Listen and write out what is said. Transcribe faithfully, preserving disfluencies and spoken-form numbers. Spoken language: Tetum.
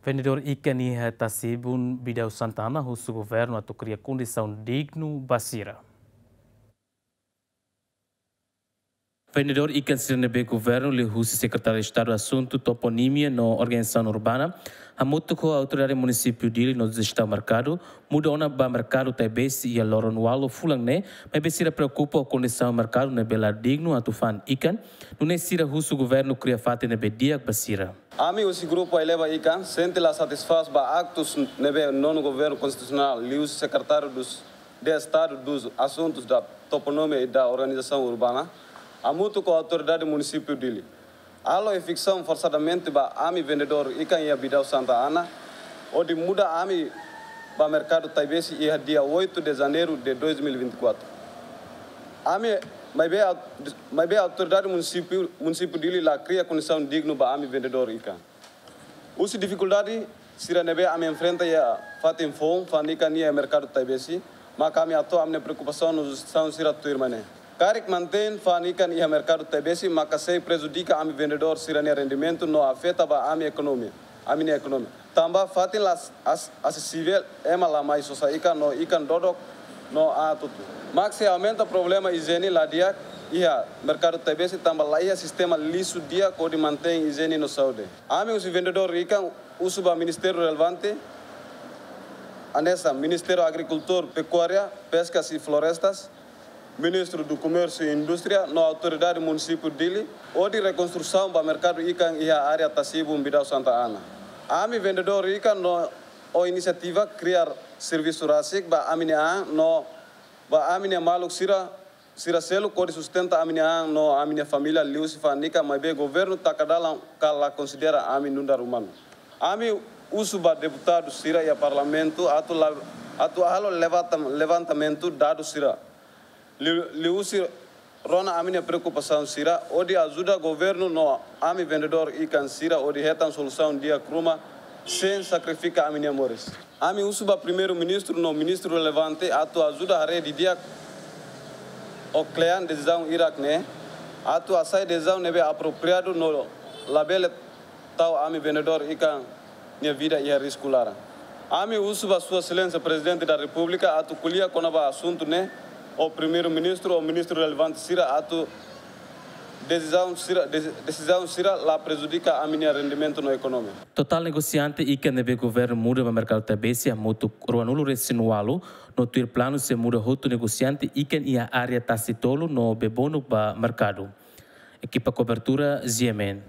Vendedór ikan iha Tasibun, Bidau Santa Ana, husu governu atu kria kondisaun dignu ba sira. Vendedór ikan sira ne'ebé governu liuhusi Sekretáriu Estadu Asuntu Toponímia no Organizasaun Urbana hamutuk ho Autoridade Munisípiu Dili no Jestaun Merkadu muda ona ba Merkadu Taibesi iha loron ualu fulan ne'e, maibé sira preokupa ho kondisaun merkadu ne'ebé la dignu atu fa'an ikan, nune'e sira husu governu kria fatin ne'ebé di'ak ba sira. Ami husi grupu Aileba Ikan sente la satisfás ba aktus ne'ebé nonu Governu Konstitusionál liuhusi Sekretáriu dos, de Estadu dos Asuntus da Toponímia e da Organizasaun Urbana hamutuk ho Autoridade Munisípiu Dili halo eviksaun forsadamente ba ami vendedór ikan iha Bidau Santa Ana, hodi muda ami ba Merkadu Taibesi iha dia oito de Janeiro de dois mil e vinte e quatro. Ami, maibé, au-, maibé Autoridade Munisípiu, Munisípiu Dili la kria kondisaun dignu ba ami vendedór ikan. Husi difikuldade sira ne'ebé ami enfrenta iha fatin foun fa'an ikan iha Merkadu Taibesi, maka ami hato'o ami-nia preokupasaun no jestaun sira tuirmai ne'e. Karik mantein fa'an ikan iha Merkadu Taibesi, maka sei prejudika ami vendedór sira-nia rendimentu no afeta ba ami ekonomia, ami-nia ekonomia. Tanba fatin la as-, as-, asesivel, ema la mai sosa ikan no ikan dodok no atutu. Mak sei aumenta problema ijiene la di'ak iha Merkadu Taibesi tanba la iha sistema lixu di'ak hodi mantein ijiene no saúde. Ami husi vendedór ikan husu ba ministériu relevante, hanesan Ministériu Agrikultura, Pekuária, Peskas e Florestas, Ministériu Komérsiu no Indústria no Autoridade Munisípiu Dili, hodi rekonstrusaun ba merkadu ikan iha área Tasibun, Bidau Santa Ana. Ami vendedór ikan no ho inisiativa kria servisu rasik ba ami-nia an no ba ami-nia maluk sira, sira seluk hodi sustenta ami-nia an no ami-nia família liuhusi fa'an ikan, maibé governu taka dalan ka la konsidera ami nu'udar umanu. Ami husu ba deputadu sira iha Parlamentu atu la, atu halo levanta-, levantamentu dadus sira. Liu, liuhusi rona ami-nia preokupasaun sira, hodi ajuda governu no ami vendedór ikan sira hodi hetan solusaun di'ak ruma, sein sakrifika ami-nia moris. Ami husu ba Primeiru-Ministru no ministru relevante atu ajuda haree didi'ak ho kle'an desizaun hirak ne'e, atu hasai desizaun ne'ebé apropriadu no labele tau ami vendedór ikan nia vida iha risku laran. Ami husu ba Sua Exelénsia Prezidente da Repúblika atu ko'alia kona-ba asuntu ne'e ho Primeiru-Ministru ho ministru relevante sira atu desizaun sira, desi-, desizaun sira la prejudika ami-nia rendimentu no ekonomia. Totál negosiante ikan ne'ebé governu muda ba Merkadu Taibesi hamutuk ruanulu-resin-ualu, no tuir planu sei muda hotu negosiante ikan iha área Tasitolu no Bebonuk ba merkadu. Ekipa kobertura, G M N.